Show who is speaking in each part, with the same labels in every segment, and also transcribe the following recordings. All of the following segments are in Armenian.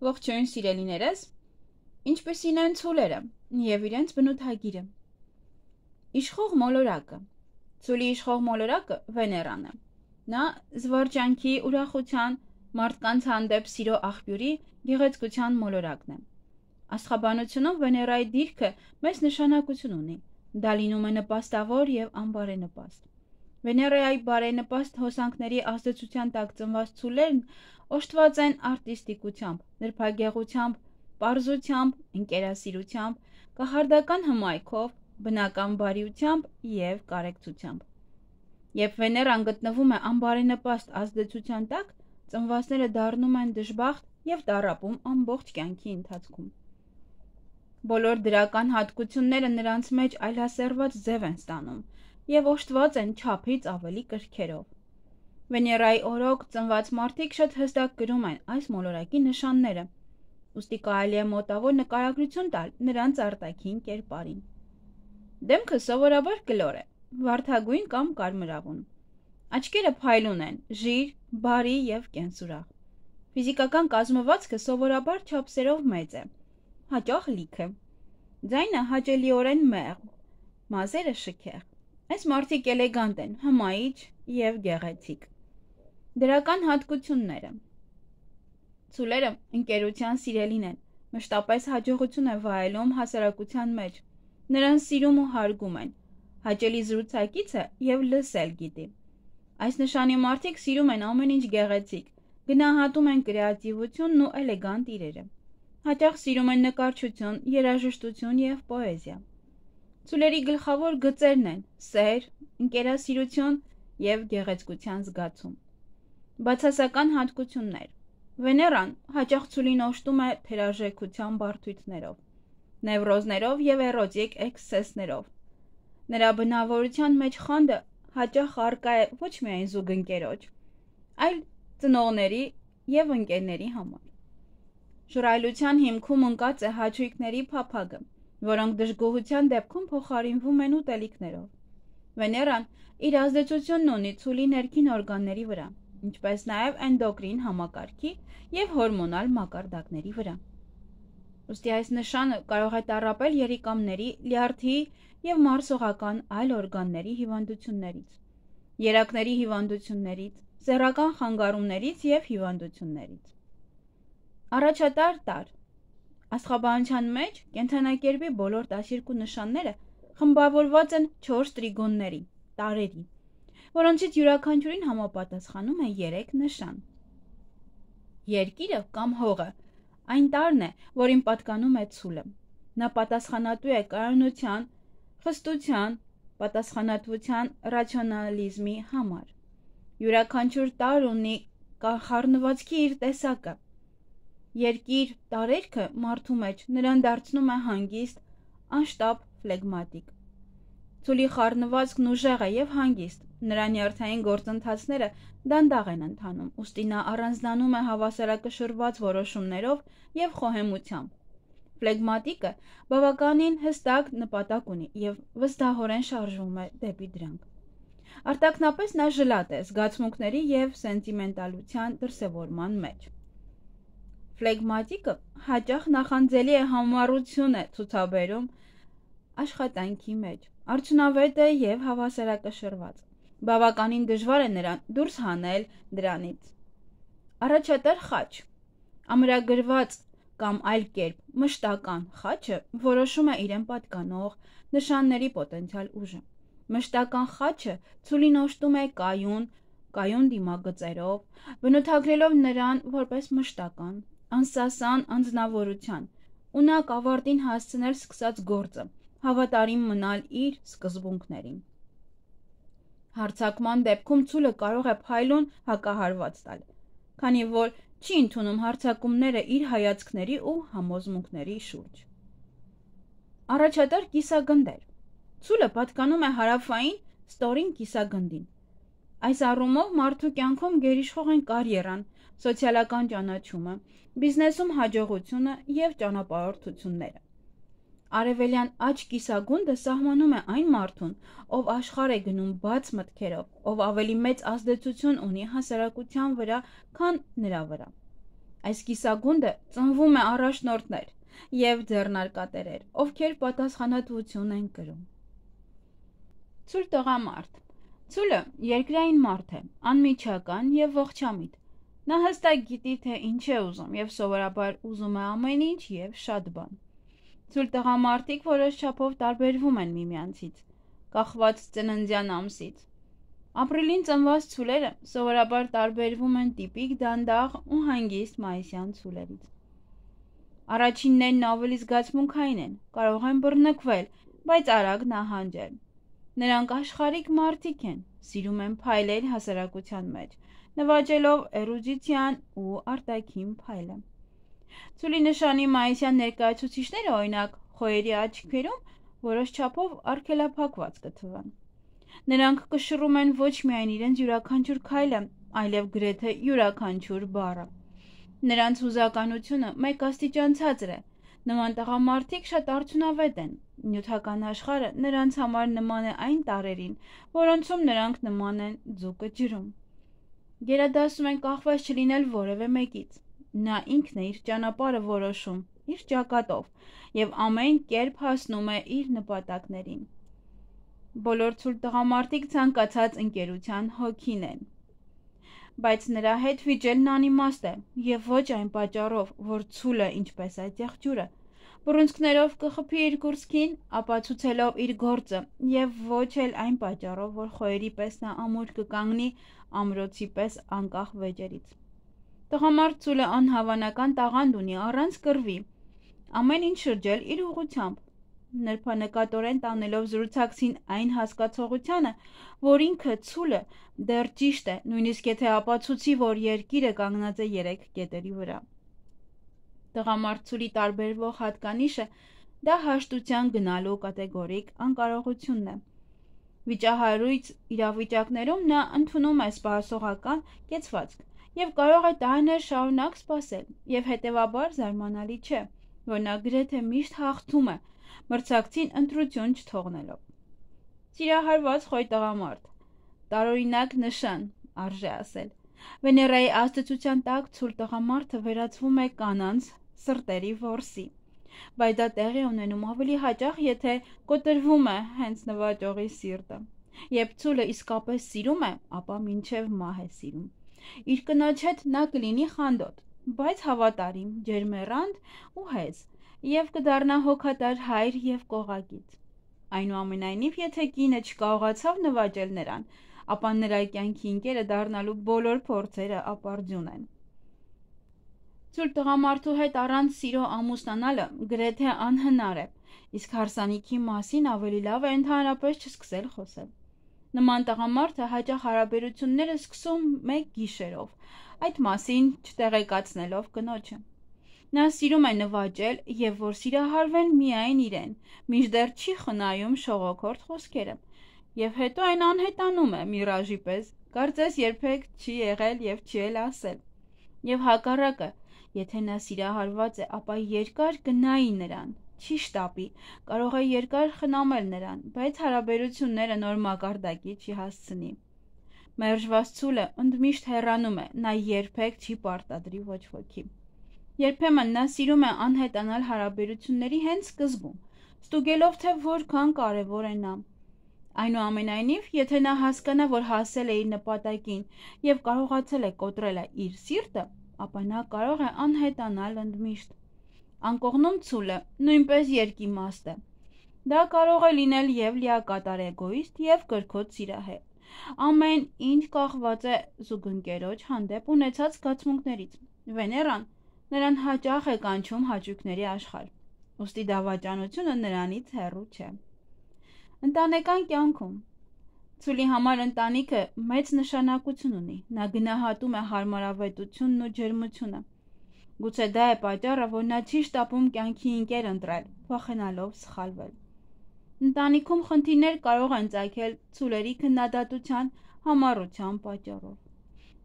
Speaker 1: Ողջույն սիրելիներս, ինչպիսին են ցուլերը և իրենց բնութագիրը։ Իշխող մոլորակը։ Ցուլի իշխող մոլորակը Վեներան է։ Նա զվարճանքի, ուրախության, մարդկանց հանդեպ սիրո աղբյուրի, գեղեցկության մոլորակն է։ Աստղաբանությունում Վեներայի դիրքը մեծ նշանակություն ունի։ Դա լինում է նպաստավոր և անբարենպաստ։ Վեներայի բարենպաստ հոսանքների ազդեցության տակ ծնված ցուլերն օժտված են արտիստիկությամբ, նրբագեղությամբ, պարզությամբ, ընկերասիրությամբ, կախարդական հմայքով, բնական բարիությամբ և կարեկցությամբ։ Երբ Վեներան գտնվում է անբարենպաստ ազդեցության տակ, ծնվածները դառնում են դժբախտ և տառապում ամբողջ կյանքի ընթացքում։ Բոլոր դրական հատկությունները նրանց մեջ այլասերված ձև են ստանում և օժտված են չափից ավելի կրքերով։ Վեներայի օրոք ծնված մարդիկ շատ հստակ կրում են այս մոլորակի նշանները, ուստի կարելի է մոտավոր նկարագրություն տալ նրանց արտաքին կերպարին։ Դեմքը սովորաբար կլոր է, վարդագույն կամ կարմրավուն։ Աչքերը փայլուն են, ժիր, բարի և կենսուրախ։ Ֆիզիկական կազմվածքը սովորաբար չափսերով մեծ է, հաճախ լիքը։ Ձայնը հաճելիորեն մեղմ, մազերը շքեղ։ Այս մարդիկ էլեգանտ են, հմայիչ և գեղեցիկ։ Դրական հատկությունները։ Ցուլերը ընկերության սիրելին են, մշտապես հաջողություն է վայելում հասարակության մեջ, նրան սիրում ու հարգում են, հաճելի զրուցակից է և լսել գիտի։ Այս նշանի մարդիկ սիրում են ամեն ինչ գեղեցիկ, գնահատում են կրեատիվությունն ու էլեգանտ իրերը։ Հաճախ սիրում են նկարչություն, երաժշտություն և պոեզիա։ Ցուլերի գլխավոր գծերն են սեր, ընկերասիրություն և գեղեցկության զգացում։ Բացասական հատկություններ։ Վեներան հաճախ ցուլին օժտում է թերարժեքության բարդություններով, նևրոզներով և էրոտիկ էքսցեսներով։ Նրա բնավորության մեջ խանդը հաճախ առկա է ոչ միայն զուգընկերոջ, այլ ծնողների և ընկերների համար։ Ժռայլության հիմքում ընկած է հաճույքների փափագը, որոնք դժգոհության դեպքում փոխարինվում են ուտելիքներով։ Վեներան իր ազդեցությունն ունի ցուլի ներքին օրգանների վրա, ինչպես նաև էնդոկրին համակարգի և հորմոնալ մակարդակների վրա։ Ուստի այս նշանը կարող է տառապել երիկամների, լյարդի և մարսողական այլ օրգանների հիվանդություններից, երակների հիվանդություններից, սեռական խանգարումներից և հիվանդություններից։ Առաջատար տարր։ Աստղաբանության մեջ կենդանակերպի բոլոր 12 նշանները խմբավորված են 4 տրիգոնների, տարրերի, որոնցից յուրաքանչյուրին համապատասխանում է 3 նշան։ Երկիրը կամ հողը այն տարրն է, որին պատկանում է ցուլը։ Նա պատասխանատու է կայունության, խստության, պատասխանատվության, ռացիոնալիզմի համար։ Յուրաքանչյուր տարր ունի խառնվածքի իր տեսակը։ Երկիր տարերքը մարդու մեջ նրան դարձնում է հանգիստ, անշտապ, ֆլեգմատիկ։ Ցուլի խառնվածքն ուժեղ է և հանգիստ, նրա նյարդային գործընթացները դանդաղ են ընթանում, ուստի նա առանձնանում է հավասարակշռված որոշումներով և խոհեմությամբ։ Ֆլեգմատիկը բավականին հստակ նպատակ ունի և վստահորեն շարժվում է դեպի դրանք։ Արտաքնապես նա ժլատ է զգացմունքների և սենտիմենտալության դրսևորման մեջ։ Ֆլեգմատիկը հաճախ նախանձելի է համառություն է ցուցաբերում աշխատանքի մեջ, արդյունավետ է և հավասարակշռված։ Բավականին դժվար է նրան դուրս հանել դրանից։ Առաջատար խաչ։ Ամրագրված կամ այլ կերպ մշտական խաչը որոշում է իրեն պատկանող նշանների պոտենցիալ ուժը։ Մշտական խաչը ցուլին օժտում է կայուն դիմագծերով, բնութագրելով նրան որպես մշտական, անսասան անձնավորության, ունակ ավարտին հասցնել սկսած գործը, հավատարիմ մնալ իր սկզբունքներին։ Հարձակման դեպքում ցուլը կարող է փայլուն հակահարված տալ, քանի որ չի ընդունում հարձակումները իր հայացքների ու համոզմունքների շուրջ։ Առաջատար կիսագնդեր։ Ցուլը պատկանում է հարավային ստորին կիսագնդին։ Այս առումով մարդու կյանքում գերիշխող են կարիերան, սոցիալական ճանաչումը, բիզնեսում հաջողությունը և ճանապարհորդությունները։ Արևելյան աջ կիսագունդը սահմանում է այն մարդուն, ով աշխարհ է գնում բաց մտքերով, ով ավելի մեծ ազդեցություն ունի հասարակության վրա, քան նրա վրա։ Այս կիսագունդը ծնվում է առաջնորդներ և ձեռնարկատերեր, ովքեր պատասխանատվություն են կրում։ Ցուլ տղամարդ։ Ցուլը երկրային մարդ է, անմիջական և ողջամիտ։ Նա հստակ գիտի, թե ինչ է ուզում և սովորաբար ուզում է ամեն ինչ և շատ բան։ Ցուլ տղամարդիկ որոշ չափով տարբերվում են միմյանցից, կախված ծննդյան ամսից։ Ապրիլին ծնված ցուլերը սովորաբար տարբերվում են տիպիկ դանդաղ ու հանգիստ մայիսյան ցուլերից։ Առաջիններն ավելի զգացմունքային են, կարող են բռնկվել, բայց արագ նահանջել։ Նրանք աշխարհիկ մարդիկ են, սիրում են փայլել հասարակության մեջ, նվաճելով էրուդիցիան ու արտաքին փայլը։ Ցուլի նշանի մայիսյան ներկայացուցիչները, օրինակ, խոյերի աչքերում որոշ չափով արգելափակված կթվան։ Նրանք կշռում են ոչ միայն իրենց յուրաքանչյուր քայլը, այլև գրեթե յուրաքանչյուր բառը։ Նրանց հուզականությունը մեկ աստիճան ցածր է։ Նման տղամարդիկ շատ արդյունավետ են։ Նյութական աշխարհը նրանց համար նման է այն տարրերին, որոնցում նրանք նման են ձուկը ջրում։ Գերադասում են կախված չլինել որևէ մեկից։ Նա ինքն է իր ճանապարհը որոշում, իր ճակատով, և ամեն կերպ հասնում է իր նպատակներին։ Բոլոր ցուլ տղամարդիկ ցանկացած ընկերության հոգին են, բայց նրա հետ վիճելն անիմաստ է, և ոչ այն պատճառով, որ ցուլը, ինչպես այդ եղջյուրը, բռունցքներով կխփի իր կուրծքին, ապացուցելով իր գործը, և ոչ էլ այն պատճառով, որ խոյերի պես նա ամուր կկանգնի ամրոցի պես անկախ վեճերից։ Տղամարդ ցուլը անհավանական տաղանդ ունի առանց կռվի, ամեն ինչ շրջել իր ուղղությամբ, նրբանկատորեն տանելով զրուցակցին այն հասկացողությանը, որ ինքը ցուլը դեռ ճիշտ է, նույնիսկ եթե ապացուցի, որ երկիրը կանգնած է 3 կետերի վրա։ Տղամարդ ցուլի տարբերվող հատկանիշը դա հաշտության գնալու կատեգորիկ անկարողությունն է։ Վիճահարույց իրավիճակներում նա ընդունում է սպասողական կեցվածք և կարող է տարիներ շարունակ սպասել, և հետևաբար զարմանալի չէ, որ նա գրեթե միշտ հաղթում է, մրցակցին ընտրություն չթողնելով։ Սիրահարված խոյ տղամարդ, տարօրինակ նշան, արժե ասել։ Վեներայի ազդեցության տակ ցուլ տղամարդը վերածվում է կանանց սրտերի որսի, բայց դա տեղի է ունենում ավելի հաճախ, եթե կոտրվում է հենց նվաճողի սիրտը։ Երբ ցուլը իսկապես սիրում է, ապա մինչև մահ է սիրում։ Իր կնոջ հետ նա կլինի խանդոտ, բայց հավատարիմ, ջերմեռանդ ու հեզ, և կդառնա հոգատար հայր և կողակից։ Այնուամենայնիվ, եթե կինը չկարողացավ նվաճել նրան, ապա նրա կյանքի ընկերը դառնալու բոլոր փորձերը ապարդյուն են։ Ցուլ տղամարդու հետ առանց սիրո ամուսնանալը գրեթե անհնար է, իսկ հարսանիքի մասին ավելի լավ է ընդհանրապես չսկսել խոսել։ Նման տղամարդը հաճախ հարաբերությունները սկսում մեկ գիշերով, այդ մասին չտեղեկացնելով կնոջը։ Նա սիրում է նվաճել և որ սիրահարվեն միայն իրեն, մինչդեռ չի խնայում շողոքորթ խոսքերը, և հետո այն անհետանում է միրաժի պես, կարծես երբեք չի եղել և չի էլ ասել։ Եվ հակառակը, եթե նա սիրահարված է, ապա երկար կնայի նրան, չի շտապի, կարող է երկար խնամել նրան, բայց հարաբերությունները նոր մակարդակի չի հասցնի։ Մերժված ցուլը ընդմիշտ հեռանում է, նա երբեք չի պարտադրի ոչ ոքի։ Երբեմն նա սիրում է անհետանալ հարաբերությունների հենց սկզբում, ստուգելով, թե որքան կարևոր է նա։ Այնուամենայնիվ, եթե նա հասկանա, որ հասել է իր նպատակին և կարողացել է կոտրել իր սիրտը, ապա նա կարող է անհետանալ ընդմիշտ։ Անկողնում ցուլը նույնպես երկիմաստ է։ Դա կարող է լինել և լիակատար էգոիստ, և կրքոտ սիրահար։ Ամեն ինչ կախված է զուգընկերոջ հանդեպ ունեցած զգացմունքներից։ Վեներան նրան հաճախ է կանչում հաճույքների աշխարհ, ուստի դավաճանությունը նրանից հեռու չէ։ Ընտանեկան կյանքում ցուլի համար ընտանիքը մեծ նշանակություն ունի, նա գնահատում է հարմարավետությունն ու ջերմությունը։ Գուցե դա է պատճառը, որ նա չի շտապում կյանքի ընկեր ընտրել, վախենալով սխալվել։ Ընտանիքում խնդիրներ կարող են ծագել ցուլերի քննադատության, համառության պատճառով։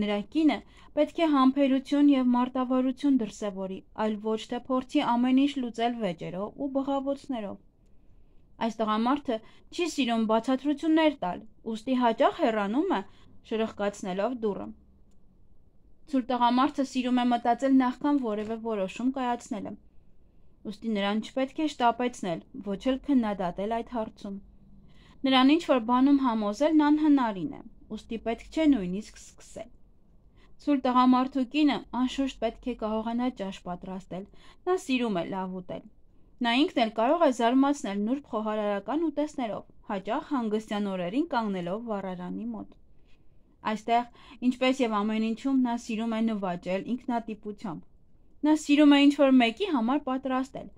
Speaker 1: Նրա կինը պետք է համբերություն և մարտավարություն դրսևորի, այլ ոչ թե փորձի ամեն ինչ լուծել վեճերով ու բղավոցներով։ Այս տղամարդը չի սիրում բացատրություններ տալ, ուստի հաճախ հեռանում է, շրխկացնելով դուռը։ Ցուլ տղամարդը սիրում է մտածել նախքան որևէ որոշում կայացնելը։ Ուստի նրան չպետք է շտապեցնել, ոչ էլ քննադատել այդ հարցում։ Նրան ինչ-որ բանում համոզելն անհնարին է, ուստի պետք չէ նույնիսկ սկսել։ Ցուլ տղամարդու կինը անշուշտ պետք է կարողանա ճաշ պատրաստել, նա սիրում է լավ ուտել։ Նա ինքն էլ կարող է զարմացնել նուրբ խոհարարական ուտեստներով, հաճախ հանգստյան օրերին կանգնելով վառարանի մոտ։ Այստեղ, ինչպես եւ ամեն ինչում, նա սիրում է նվաճել ինքնատիպությամբ։ Նա սիրում է ինչ-որ մեկի համար պատրաստել,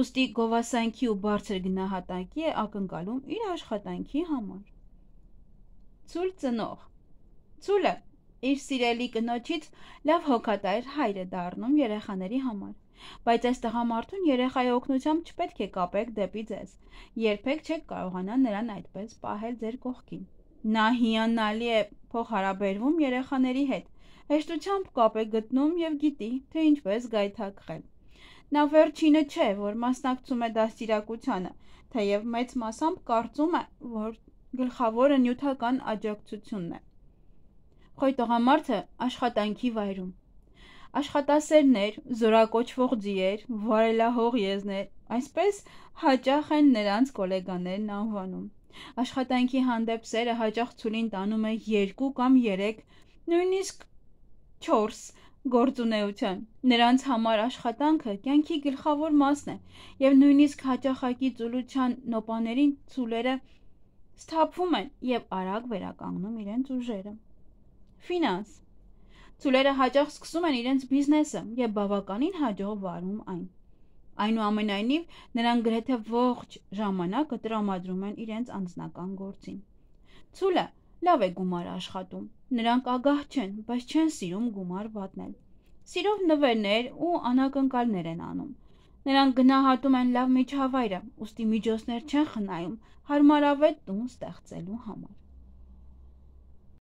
Speaker 1: ուստի գովասանքի ու բարձր գնահատակի է ակնկալում իր աշխատանքի համար։ Ցուլ ծնող։ Ցուլը իր սիրելի կնոջից լավ հոգատար հայր է դառնում երեխաների համար, բայց այս տղամարդուն երեխայի օգնությամբ չպետք է կապեք դեպի ձեզ, երբեք չեք կարողանա նրան այդպես պահել ձեր կողքին։ Նա հիանալի է փոխհարաբերվում երեխաների հետ, հեշտությամբ կապ է գտնում եւ գիտի, թե ինչպես գայթակղել։ Նա վերջինը չէ, որ մասնակցում է դաստիարակությանը, թեև մեծ մասամբ կարծում է, որ գլխավորը նյութական աջակցությունն է։ Խոյ տղամարդը աշխատանքի վայրում։ Աշխատասերներ, զորակոչվող ձիեր, վարելահող եզներ, այսպես հաճախ են նրանց գոլեգաներն անվանում։ Աշխատանքի հանդեպ սերը հաճախ ցուլին տանում է 2 կամ 3, նույնիսկ 4 գործունեության։ Նրանց համար աշխատանքը կյանքի գլխավոր մասն է, եւ նույնիսկ հաճախակի ծուլության նոպաներին ցուլերը սթափվում են եւ արագ վերականգնում իրենց ուժերը։ Ֆինանս։ Ցուլերը հաճախ սկսում են իրենց բիզնեսը եւ բավականին հաջող վարում այն։ Այնուամենայնիվ, նրանք գրեթե ողջ ժամանակը տրամադրում են իրենց անձնական գործին։ Ցուլը լավ է գումար աշխատում։ Նրանք ագահ չեն, բայց չեն սիրում գումար վատնել։ Սիրով նվերներ ու անակնկալներ են անում։ Նրանք գնահատում են լավ միջավայրը, ուստի միջոցներ չեն խնայում հարմարավետ տուն ստեղծելու համար։